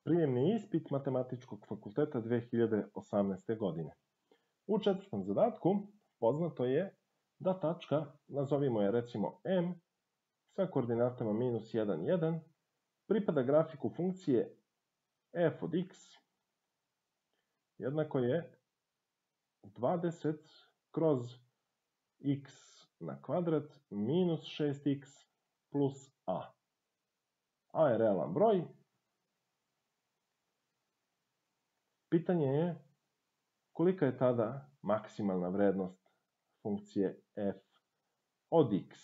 Prijemni ispit Matematičkog fakulteta 2018. godine. U četvrtom zadatku poznato je da tačka, nazovimo je recimo M, sa koordinatama -1, 1, pripada grafiku funkcije f od x jednako je 20 kroz x na kvadrat minus 6x plus a. A je realan broj. Pitanje je kolika je tada maksimalna vrednost funkcije f od x.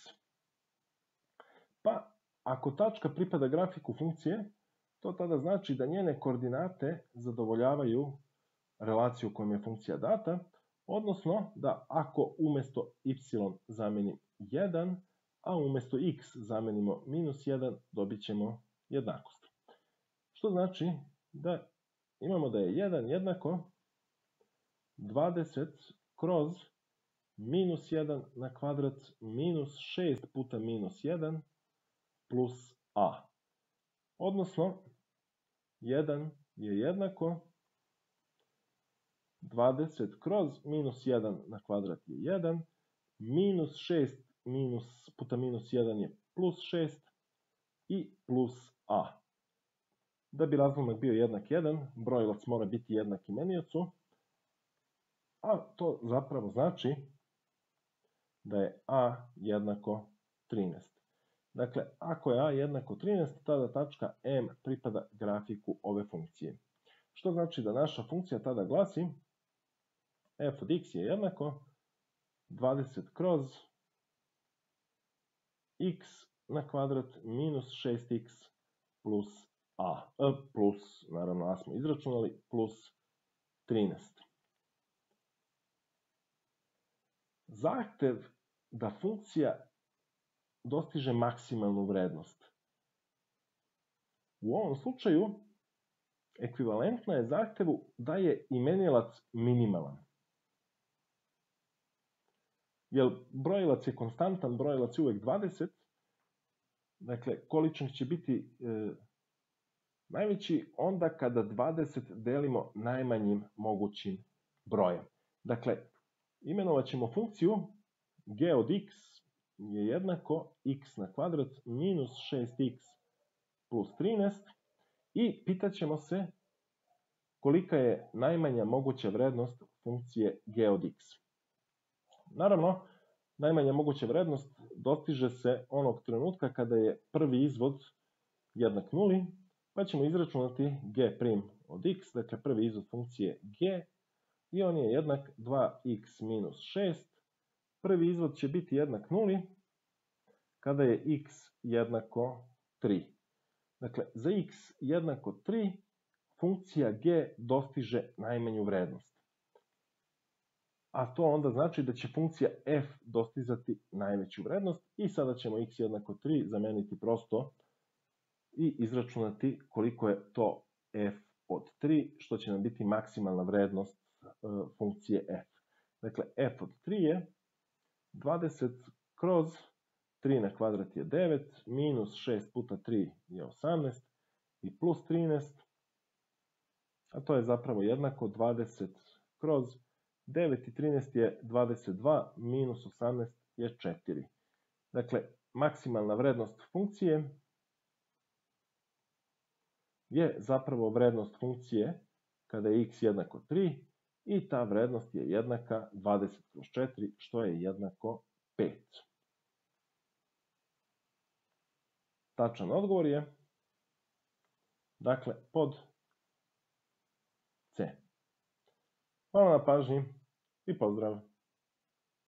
Pa, ako tačka pripada grafiku funkcije, to tada znači da njene koordinate zadovoljavaju relaciju kojom je funkcija data, odnosno da ako umjesto y zamenim 1, a umjesto x zamenimo -1, dobit ćemo jednakost. Što znači da imamo da je 1 jednako 20 kroz -1 na kvadrat minus 6 puta -1 plus a. Odnosno, 1 je jednako 20 kroz -1 na kvadrat je 1, minus 6 puta -1 je plus 6 i plus a. Da bi razlomak bio jednak 1, brojilac mora biti jednak imeniocu, a to zapravo znači da je a jednako 13. Dakle, ako je a jednako 13, tada tačka M pripada grafiku ove funkcije. Što znači da naša funkcija tada glasi f od x je jednako 20 kroz x na kvadrat minus 6x plus a. Plus, naravno a smo izračunali, plus 13. Zahtev da funkcija dostiže maksimalnu vrednost. U ovom slučaju ekvivalentna je zahtevu da je imenilac minimalan. Jer brojilac je konstantan, brojilac je uvek 20, dakle količnik će biti najveći onda kada 20 delimo najmanjim mogućim brojem. Dakle, imenovat ćemo funkciju g od x je jednako x na kvadrat minus 6x plus 13 i pitat ćemo se kolika je najmanja moguća vrednost funkcije g od x. Naravno, najmanja moguća vrednost dostiže se onog trenutka kada je prvi izvod jednak nuli, pa ćemo izračunati g' od x, dakle prvi izvod funkcije g, i on je jednak 2x minus 6. Prvi izvod će biti jednak nuli kada je x jednako 3. Dakle, za x jednako 3 funkcija g dostiže najmanju vrednost. A to onda znači da će funkcija f dostizati najveću vrednost i sada ćemo x jednako 3 zameniti prosto i izračunati koliko je to f od 3, što će nam biti maksimalna vrednost funkcije f. Dakle, f od 3 je 20 kroz 3 na kvadrat je 9, minus 6 puta 3 je 18 i plus 13, a to je zapravo jednako 20 kroz 9 i 13 je 22, minus 18 je 4. Dakle, maksimalna vrednost funkcije je zapravo vrednost funkcije kada je x jednako 3 i ta vrednost je jednaka 20 kroz 4, što je jednako 5. Tačan odgovor je, dakle, pod C. Hvala na pažnji i pozdrav!